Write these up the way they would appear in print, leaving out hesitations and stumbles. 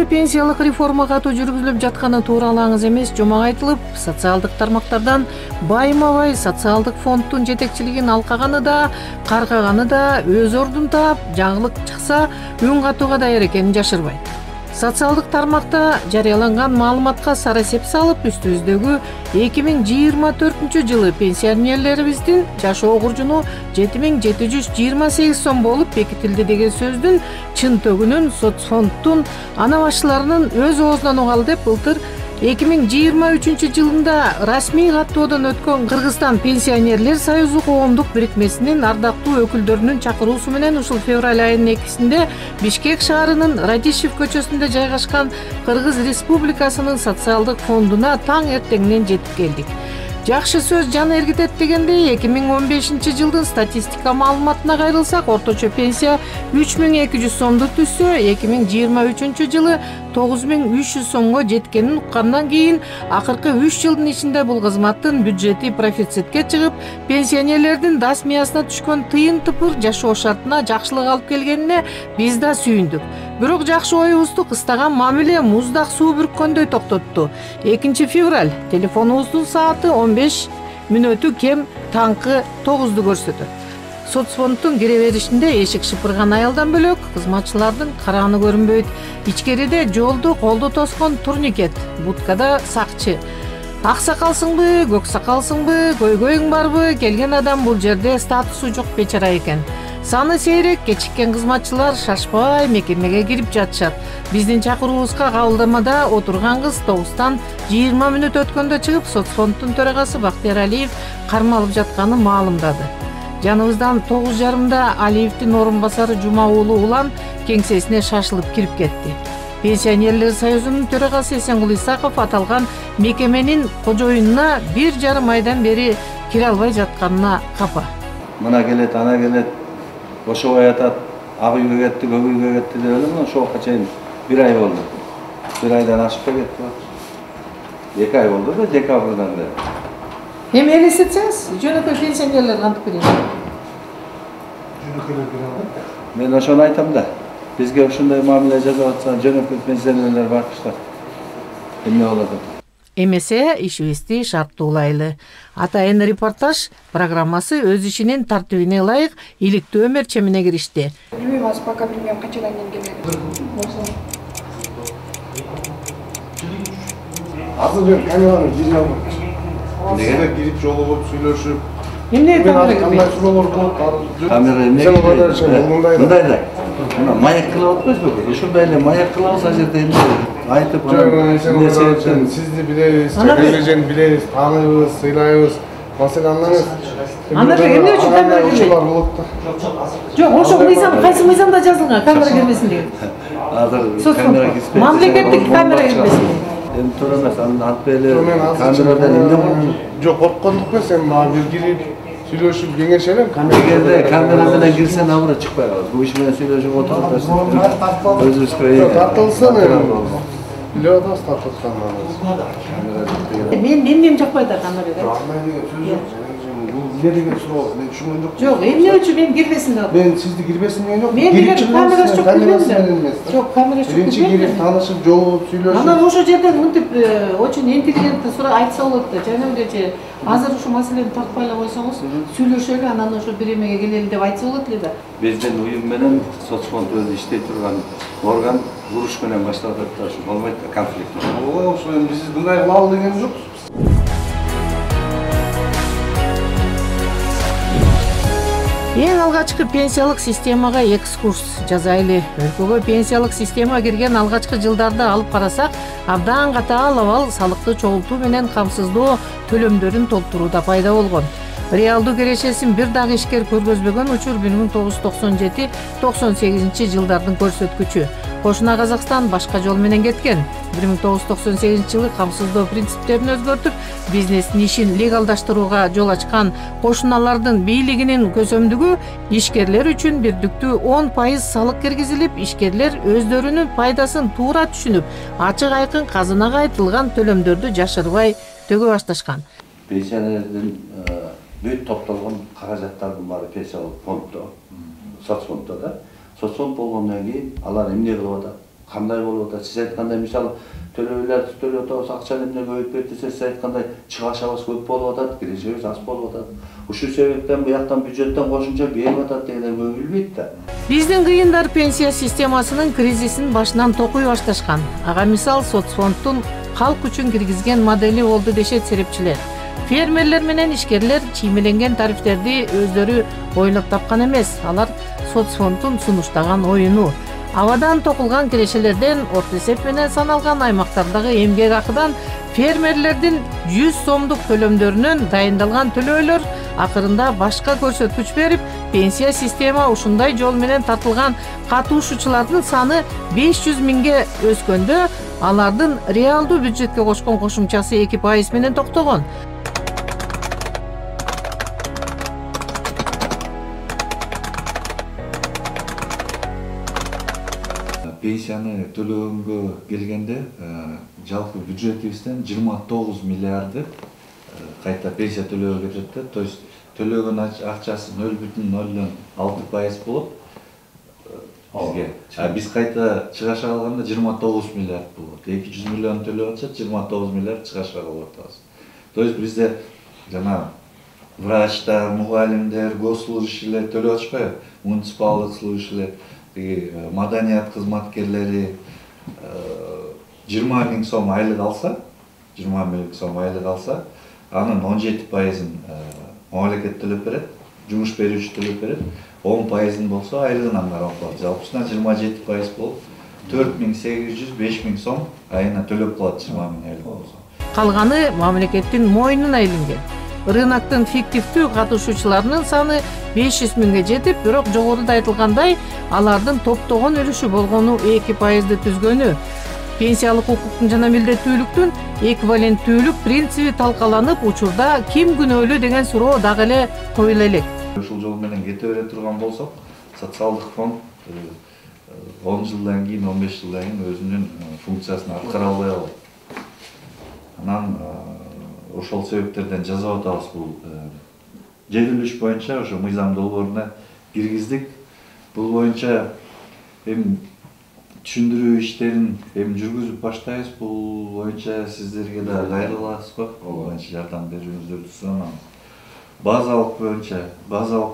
Элде пенсиялык реформа катуу жүргүзүлүп жатканы тууралуу аңыз эмес жомок айтылып, социалдык тармактардан байма-бай социалдык фонддун жетекчилигин алкаганы да, каргаганы да өз ордун таап, жаңылык чыкса үн катууга даяр экенин жашырбайт. Социалдык тармакта жарыяланган маалыматка сара эсеп салып, үстүбүздөгү 2024 пенсионерлерибиздин жашоо куржуну 7728 сом болуп бекитилди деген сөздүн чын төгүнүн соцфонддун ана башчыларынын өз оозунан угалы деп былтыр 2023 расмий каттоодон өткөн Кыргызстан пенсионерлер союзу коомдук бирикмесинин ардактуу өкүлдөрүнүн чакыруусу менен ушул февраль айынын 2-синде Бишкек шаарынын Радищев көчөсүндө жайгашкан Кыргыз Республикасынын социалдык фондуна таң эртеңинен жетип келдик. Жакшы сөз жан эргитет дегендей 2015 статистика маалыматына кайрылсак, орточо пенсия 3200 сомду түзсө, 2023 9300 сомго жеткенин уккандан кийин акыркы 3 жылдын ичинде бул кызматтын бюджети профицитке чыгып, пенсионерлердин дас миясына түшкөн тыйын тыпыр жашоо шартына жакшылык алып келгенине биз да сүйүндүк. Бирок жакшы оюбузду кыстаган мамиле муздак суу бүрккөндөй токтотту. 2 февраль телефонубуздун сааты 15 мүнөтү кем таңкы 9ду көрсөтөт. Соцфонддун кире беришинде эшик шыпырган аялдан бөлөк кызматчылардын карааны көрүнбөйт. Ичкериде жолду колдо тоскон турникет, будкада сакчы. Ак сакалсыңбы, көк сакалсыңбы, көйгөйүң барбы? Келген адам бул жерде статусу жок бечара экен. Саны сейрек, кечиккен кызматчылар шашпай мекемеге кирип жатышат. Биздин чакыруубузга кабылдамада отурган кыз 9тан 20 мүнөт өткөндө чыгып, соцфонддун төрагасы Бактияр Алиев кармалып жатканын маалымдады. Жаныбыздан 9:30 Алиевдин орун басары Жума уулу Улан кеңсесине шашылып кирип кетти. Пенсионерлер союзунун төрагасы Эсенгул Исаков аталган мекеменин кожоюнуна 1,5 айдан бери кире албай жатканына капа. Мына келет, ана келет, ошобой атат, ак үйгө кетти, көк үйгө кетти деп эле ошого чейин 1 ай болду. 1 айдан ашып кетти. 2 ай болду да, декабрдан бери. Эми элестетсеңиз, жөнөкөй пенсионерлер кантип берет? Жөнөкөйлөр бере алат. Мен ошону айтам да. Бизге ушундай мамиле жасап атса, жөнөкөй пенсионерлер бакыштар. Эмне болот? Эмесе ишибизди шарттуулайлы. Атайын репортаж программасы өз ишинин тартибине ылайык иликтөө мерчемине киришти. Билбейм, азыр пока билбейм канчадан кийин келет. Азыр мен камераны кире алмайм. Неге кирип жолугуп сүйлөшүп. Эмне камера кандай суроолор болот? Камера эмне? Мындай да. Мына маяк кылып атпайсызбы? Ушундай эле маяк кылабыз, ал жерде айтып сизди билебиз, кележени билебиз, тааныйбыз, сыйлайбыз. Маселени анда эмне үчүн камера кирбейт? Болот да. Жок, ошол мыйзам кайсы мыйзамда жазылган камера кирбесин деген? Азыр камера кирбесин. Мамлекеттик камера кирбесин. Эми туура эмес, анын ат беле камерадан эмне болот? Жок, корккондук эмес, эми мага бир кирип сүйлөшүп кеңешелем. Эгерде камера менен кирсен абыры чыкпай калат. Бул иш менен сүйлөшүп отуруп өзүбүзгө тартылсын эми. Билип атабыз тартылганын. Мен эмнем жакпайт да камерага. Эмне деген суроо, мен түшүнгөн жокмун. Жок, эмне үчүн мен кирбесин деп. Мен сизди кирбесин деген жок. Мен деген камерасы жок кирбесин. Жок, камерасы жок. Биринчи кирип таанышып, жолугуп, сүйлөшүп. Анан ошол жерден мынтип очень интеллигентный суроо айтса болот да. Жана эле азыр ушу маселени тартпай эле койсоңуз, сүйлөшөлү, анан ошо бир эмеге келели деп айтса болот эле да. Биздин уюм менен соцфонд өзү иштей турган орган уруш менен башталып атат, ушу болбойт да, конфликт. Ооба, ошо эми биз мындай кылалы деген жокпуз. Эң алгачкы пенсиялык системага экскурс жасайлы. Өлкөгө пенсиялык система кирген алгачкы жылдарды алып карасак, абдан катаал абал салыкты чогултуу менен камсыздоо төлөмдөрүн толтурууда пайда болгон. Реалдуу керешесин бир дагы ишкер көргөзбөгөн учур 1997-98 жылдардын көрсөткүчү. Кошуна Казакстан башка жол менен кеткен. 1998 жылы камсыздоо принциптерин өзгөртүп, бизнестин ишин легалдаштырууга жол ачкан кошуналардын бийлигинин көсөмдүгү ишкерлер үчүн бирдиктүү 10% салык киргизилип, ишкерлер өздөрүнүн пайдасын туура түшүнүп, ачык айкын казынага айтылган төлөмдөрдү жашырбай төгө башташкан. Пенсионердин бүт топтолгон каражаттардын баары пенсиялык фонддо, соцфонддо да. Соцфонд болгондон кийин алар эмне кылып атат? кандай болуп атат? Сиз айткандай мисалы төлөөлөрдү төлөп атабыз, акчаны эмне көбөйтүп берди десе, сиз айткандай чыгашабыз көп болуп атат, кирешебиз аз болуп атат. Ушул себептен буяктан бюджеттен кошумча берип атат дегенди көп билбейт да. Биздин кыйындар пенсия системасынын кризисин башынан токуй башташкан. Ага мисал соцфонддун калк үчүн киргизген модели болду дешет серепчилер. Фермерлер менен ишкерлер чиймеленген тарифтерди өздөрү ойлоп тапкан эмес. Алар соцфонддун сунуштаган оюну. Абадан токулган кирешелерден орто эсеп менен саналган аймактардагы эмгек акыдан фермерлердин 100 сомдук төлөмдөрүнөн дайындалган төлөөлөр акырында башка көрсөткүч берип, пенсия система ушундай жол менен тартылган катышуучулардын саны 500 миңге өскөндө, алардын реалдуу бюджетке кошкон кошумчасы 2% менен токтогон. Пенсияны төлөгөнгө келгенде жалпы бюджетибизден 29 миллиарды кайта пенсия төлөөгө кетет да. То есть төлөгөн акчасы 0,06% болот бизге. Биз кайта чыгаша калганда 29 миллиард болот. 200 миллион төлөп атсак 29 миллиард чыгаша калып атабыз. То есть бизде жана врачтар, мугалимдер, госслужащийлер төлөп атышпайбы? Муниципалдык служащийлер, маданият кызматкерлери 20 000 сом айлык алса, 20 000 сом айлык алса, анын 17%-ын мамлекет төлөп берет, жумуш берүүчү төлөп берет. 10%-ын болсо айлыгынан карап калат. Жалпысынан 27% болуп 4800 5000 сом айына төлөп калат 20 000 айлык болсо. Калганы мамлекеттин мойнуна илинген. Рыноктун фиктивдүү катышуучуларынын саны 500 миңге жетип, бирок жогоруда айтылгандай, алардын топтогон үлүшү болгону 2%ды түзгөнү. Пенсиялык укуктун жана милдеттүүлүктүн эквиваленттүүлүк принциби талкаланып, учурда ким күнөөлүү деген суроо дагы эле коюла элек. Ушул жол менен кете бере турган болсок, социалдык фонд 10 жылдан кийин, 15 жылдан кийин өзүнүн функциясын аткара албай калат. Анан ошол себептерден жазып атабыз бул жетилиш боюнча ошо мыйзам долбооруна киргиздик. Бул боюнча эми түшүндүрүү иштерин эми жүргүзүп баштайбыз. Бул боюнча сиздерге да кайрыласызбы? Бул боюнча жардам берүүңүздөрдү суранабыз. Базалык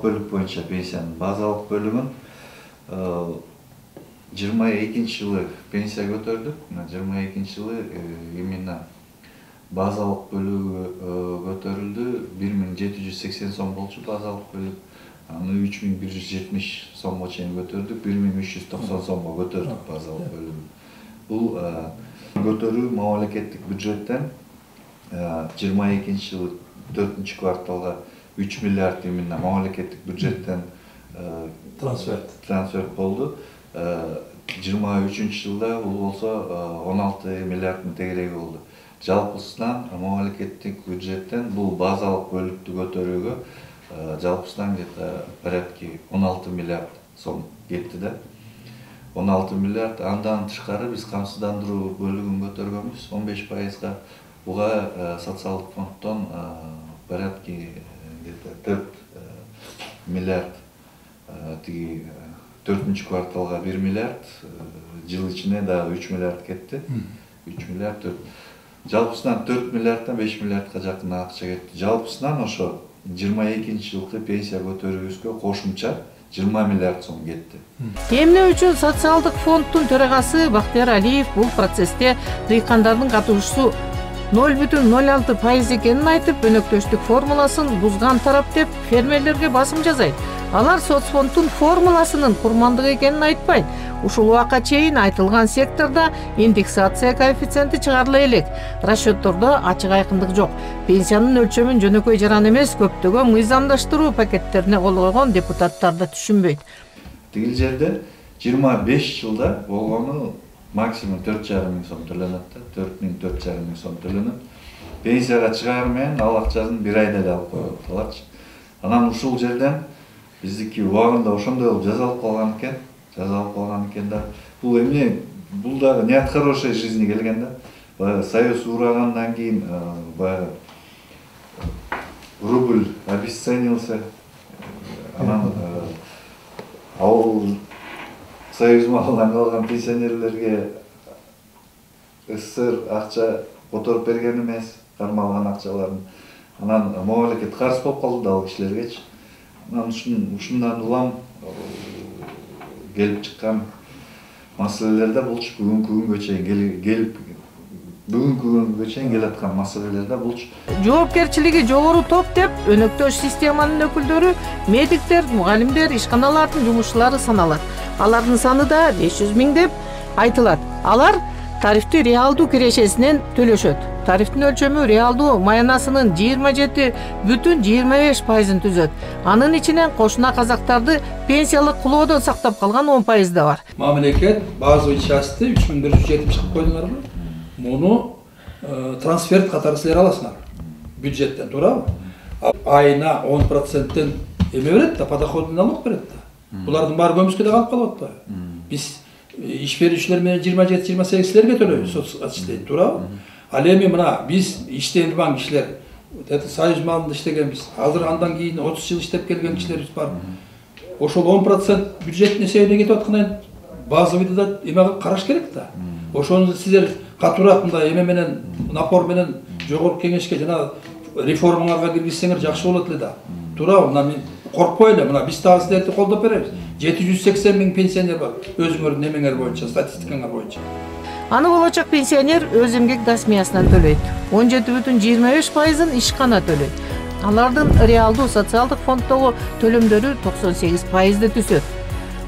бөлүк боюнча пенсиянын базалык бөлүгүн 22 жылы пенсия көтөрдүк. 22 жылы именно базалык бөлүгү көтөрүлдү. 1780 сом болчу базалык бөлүк. Аны 3170 сомго чейин көтөрдүк. 1390 сомго көтөрдүк базалык бөлүгүн. Бул көтөрүү мамлекеттик бюджеттен 22 жылы 4 кварталга 3 миллиард именно мамлекеттик бюджеттен трансферт болду. 23 жылда бул болсо 16 миллиарддын тегереги болду. Жалпысынан мамлекеттик бюджеттен бул базалык бөлүктү көтөрүүгө жалпысынан где-то порядки 16 миллиард сом кетти да. 16 миллиард, андан тышкары биз камсыздандыруу бөлүгүн көтөргөнбүз 15%га. Буга социалдык фонддон порядки где-то 4 миллиард, тиги 4 кварталга 1 миллиард, жыл ичине дагы 3 миллиард кетти. 3 миллиард 4. Жалпысынан 4 миллиарддан 5 миллиардка жакын акча кетти. Жалпысынан ошо 22 жылкы пенсия көтөрүүбүзгө кошумча 20 миллиард сом кетти. Эмне үчүн социалдык фонддун төрагасы Бактияр Алиев бул процессте дыйкандардын катышуусу 0,06% экенин айтып, өнөктөштүк формуласын бузган тарап деп фермерлерге басым жасайт. Алар соцфонддун формуласынын курмандык экенин айтпайт. Ушул убакка чейин айтылган секторда индексация коэффициенти чыгарыла элек. Расчеттордо ачык айкындык жок. Пенсиянын өлчөмүн жөнөкөй жаран эмес, көптөгөн мыйзамдаштыруу пакеттерине кол койгон депутаттар да түшүнбөйт. Тигил жерде 25 жылда болгону максимум 4,5 миң сом төлөнөт да, 4,5 миң сом төлөнөт. Пенсияга чыгаар менен ал акчасын бир айда эле алып коет аларчы. Анан ушул жерден биздики убагында ошондой болуп жазалып калган экен да. Бул эмне? Бул дагы не от хорошей жизни келген да. Баягы союз урагандан кийин баягы рубль обесценился. Анан ал Союз малынан калган пенсионерлерге СССР акча которуп берген эмес, кармалган акчаларын. Анан мамлекет карыз болуп калды да ал кишилергечи. Анан ушундан улам келип чыккан маселелерде булчу бүгүнкү күнгө чейин келаткан маселелерде булчу. Жоопкерчилиги жогору топ деп өнөктөш системанын өкүлдөрү медиктер, мугалимдер, ишканалардын жумушчулары саналат. Алардын саны да 500 000 деп айтылат. Алар тарифти реалдуу кирешесинен төлөшөт. Тарифтин өлчөмү реалдуу маянасынын 27,25%-ын түзөт. Анын ичинен кошуна казактарды пенсиялык кулоодон сактап калган 10% да бар. Мамлекет базовый части 3170 чыгып койдуңарбы? Муну трансферт катары силер аласыңар. Бюджеттен, туурабы? Айына 10%-тен эме берет да, подоходный налог берет да. Булардын баары көмүскөдө калып калып атпайбы? Биз иш берүүчүлөр менен 27-28 силерге төлөйбүз, соцсилер, туурабы? Ал эми мына биз иштей турган кишилер, Союз малында иштегенбиз. Азыр андан кийин 30 жыл иштеп келген кишилерибиз бар. Ошол 10% бюджеттин эсебине кетип аткандан базовыйды да эмеге караш керек да. Ошону силер катуураак мындай эме менен, напор менен жогорку кеңешке жана реформаларга киргизсеңер жакшы болот эле да. Туурабы? Мына мен коркпой эле, мына биз дагы силерди колдоп беребиз. 780 000 пенсионер бар өзүңөрдүн эмеңер боюнча, статистикаңар боюнча. Аны болочок пенсионер өз эмгек дасмиясынан төлөйт. 17,25%-ын ишкана төлөйт. Алардын реалдуу социалдык фонддогу төлөмдөрү 98%-ды түзөт.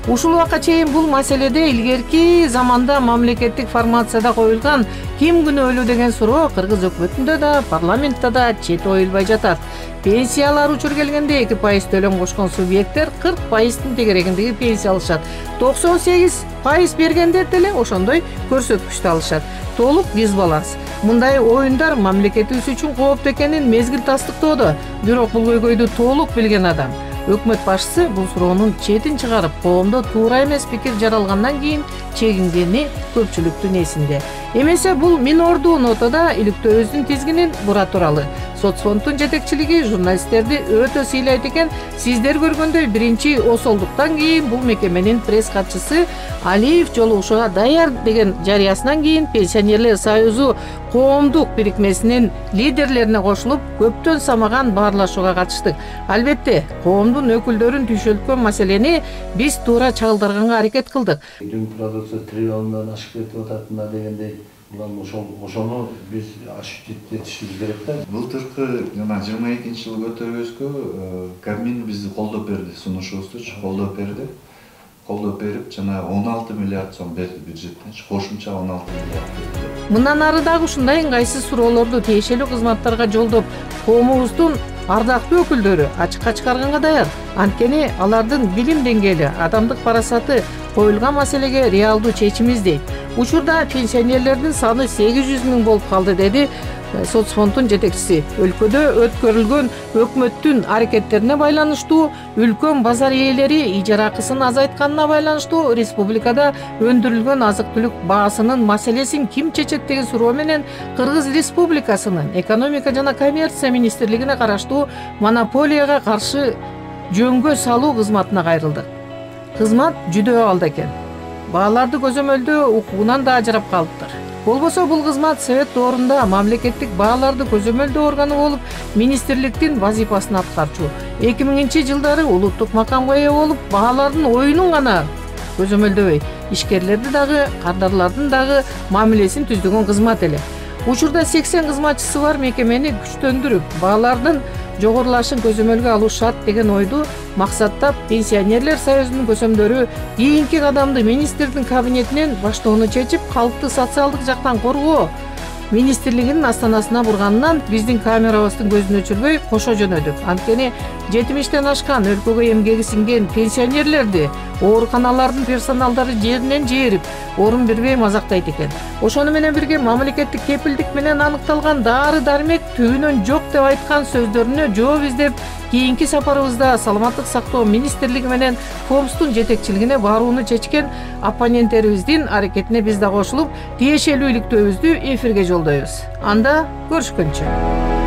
Ушул убакка чейин бул маселеде илгерки заманда мамлекеттик формацияда коюлган ким күнөөлүү деген суроо кыргыз өкмөтүндө да, парламентте да чет оюлбай жатат. Пенсиялар учур келгенде 2% төлөм кошкон субъекттер 40%-тын тегерегиндеги пенсия алышат. 98% бергендер деле ошондой көрсөткүчтү алышат. Толук дисбаланс. Мындай оюндар мамлекетибиз үчүн кооптуу экенин мезгил тастыктоодо. Бирок бул көйгөйдү толук билген адам. Өкмөт башчысы бул суроонун четин чыгарып, коомдо туура эмес пикир жаралгандан кийин чегингени көпчүлүктүн эсинде. Эмесе бул минордуу нотада иликтөөбүздүн тизгинин бура туралы. Соцфонддун жетекчилиги журналисттерди өтө сыйлайт экен. Сиздер көргөндөй биринчи осолдуктан кийин бул мекеменин пресс катчысы Алиев жолугушууга даяр деген жарыясынан кийин Пенсионерлер союзу коомдук бирикмесинин лидерлерине кошулуп, көптөн самаган баарлашууга катыштык. Албетте, коомдун өкүлдөрүн түйшөлткөн маселени биз туура чагылдырганга аракет кылдык. Дүң продукция триллиондон ашып кетип ататына дегендей, ошону биз ашып жетишибиз керек да. Былтыркы жана 22-жылы көтөрүүбүзгө Кабмин бизди колдоп берди, сунушубузду колдоп берди. Колдоп берип, жана 16 миллиард сом берди бюджеттен, кошумча 16 миллиард берди. Мындан ары дагы ушундай ыңгайсыз суроолорду тиешелүү кызматтарга жолдоп, коомубуздун ардактуу өкүлдөрү ачыкка чыгарганга даяр. Анткени алардын билим деңгээли, адамдык парасаты коюлган маселеге реалдуу чечим издейт. Учурда пенсионерлердин саны 800 000 болуп калды, деди соцфонддун жетекчиси. Өлкөдө өткөрүлгөн өкмөттүн аракеттерине байланыштуу, үлкөн базар ээлери ижара акысын азайтканына байланыштуу, республикада өндүрүлгөн азык-түлүк баасынын маселесин ким чечет деген суроо менен Кыргыз Республикасынын экономика жана коммерция министрлигине караштуу монополияга каршы жөнгө салуу кызматына кайрылдык. Кызмат жүдөө абалда экен. Бааларды көзөмөлдөө укугунан да ажырап калыптыр. Болбосо бул кызмат совет доорунда мамлекеттик бааларды көзөмөлдөө органы болуп, министрликтин вазифасын аткарчу. 2000-жылдары улуттук макамга ээ болуп, баалардын оюнун гана көзөмөлдөбөй, ишкерлерди дагы, кардарлардын дагы мамилесин түздөгөн кызмат эле. Учурда 80 кызматчысы бар мекемени күчтөндүрүп, баалардын жогорулашын көзөмөлгө алуу шарт деген ойду максаттап Пенсионерлер союзунун көсөмдөрү кийинки кадамды министрдин кабинетинен баштоону чечип, калкты социалдык жактан коргоо министрлигинин астанасына бурганынан биздин камерабыздын көзүн өчүрбөй кошо жөнөдүк. Анткени 70-тен ашкан өлкөгө эмгеги сиңген пенсионерлерди ооруканалардын персоналдары жеринен жээрип, орун бербей мазактайт экен. Ошону менен бирге мамлекеттик кепилдик менен аныкталган дары-дармек түбүнөн жок деп айткан сөздөрүнө жооп издеп, кийинки сапарыбызда саламаттык сактоо министрлиги менен ФОМСтун жетекчилигине барууну чечкен оппоненттерибиздин аракетине биз да кошулуп, тиешелүү иликтөөбүздү эфирге жолдойбуз. Анда көрүшкөнчө.